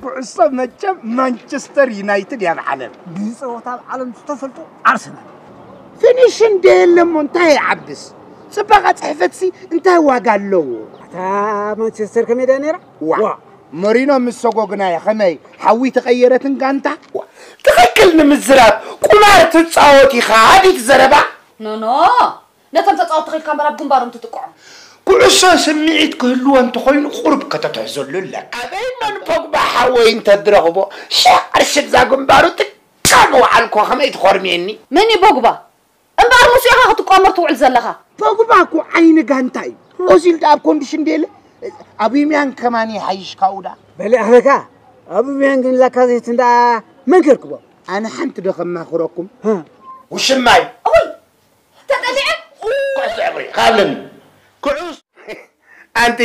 ኩዕሶ መቸም ማንቸስተር ዩናይትድ እያ ብዓለም። ብጸወታ ኣብ ዓለም ዝተፈልጡ ኣርሰናል። ፊኒሽን ደየለሞ እንታይ ይዓብስ? ጽባቐ ጽሕፈትሲ እንታይ ዋጋ ኣለዎ? እታ ማንቸስተር ከመይ ደኣ ነይራ? ዋ። ዋ። መሪኖ ምስ ሰጎግናዮ ከመይ ሓዊ ተቐየረትን ጋንታ? ዋ። ትኽክል ንምዝራብ ቁማር ትጻወት ኢኻ ኣዲት ዘረባ? ኖ ኖ። ነቶም ተጻወትቲ ኺድካ እምበር ኣብ ግንባሮም ትጥቅዖም። ኩዕሶ ስምዒት ክህልዎ እንተኾይኑ ቁሩብ ከተትሕዘሉ ኣለካ። ኣበይ መን ፖግባ ሓወይ እንተድረኽቦ ሻዕ ኣርሽብዛ ግንባሩ ጥቃ ምውዓልኮ ከመይ ትኾርምየኒ? መን እዩ ፖግባ? እምበኣር ምስኡ ኢኻ ክትቋመር ትውዕል ዘለኻ። ፖግባ እኮ ዓይኒ ጋንታ እዩ። ኦዚል ደኣ ኣብ ኮንዲሽን ደየለ? ኣቡሚያንግ ከማን ይሓይሽ ካብኡ ደኣ። በሊዕኽለካ። ኣቡሚያንግን ላካዜትን ደኣ መን ከርክቦም? ኣነ ሓንቲ ዶ ከማኽረኩም? ሃ። ውሽማይ። እውይ! ተጠሊዐ? ኩዕሶ እግሪ። ካብለኒ። ኩዕስ ኣንቲ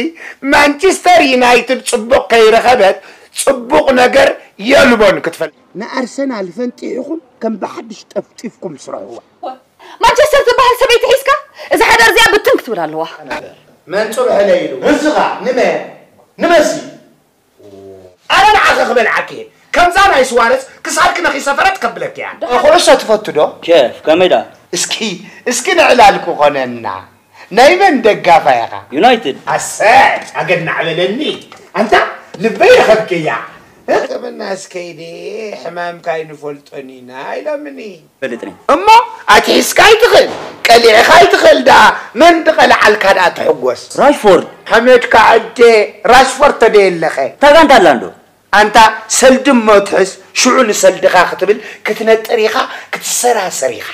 ማንቸስተር ዩናይትድ ጽቡቕ ከይረኸበት ጽቡቕ ነገር የልቦን ክትፈልጥ። ንኣርሰናል ፈንጢሕኹም ከም ብሓድሽ ጠፍጢፍኩም ስርሕዋ። ማንቸስተር ትበሃል ሰበይቲ ሒዝካ እዛ ሓዳር እዚኣ ብትን ክትብል ኣለዋ። መን ጽብሐለ ኢሉ? ንስኻ። ንመን? ንመሲ። ኣነ ንዓኺ ክበልዓኪ እየ። ከምዛ ናይ ስዋረስ ክሳድኪ ነኺሰ ፈረጥ ከብለኪ እያ። ኩዕሶ ትፈቱ ዶ? ኬፍ፣ ከመይ ደኣ? እስኪ፣ እስኪ ንዕላል ክኾነና። ናይ መን ደጋፋይ ኢኻ? ዩናይትድ። ኣሰይ፣ ኣገናዕ በለኒ። ኣንታ ልበይ ረኸብክያ። ሕክምና እስከይደ ሕማምካ ኣይንፈልጦን ኢና ኢሎምኒ። ፈልጥኒ። እሞ ኣትሒዝካ ኣይትኽእል፣ ቀሊዕኻ ኣይትኽእል ደኣ፣ መን ድቐልዓልካ ደኣ ትሕጎስ? ራሽፎርድ። ሓመድካ ዕዴ፣ ራሽፎርድ ተደየለኸ? እታ ጋንታ ኣላ እንዶ? ኣንታ ሰልዲ እሞ ትሕዝ፣ ሽዑ ንሰልድኻ ክትብል ክትነጥር ኢኻ፣ ክትሰራሰር ኢኻ።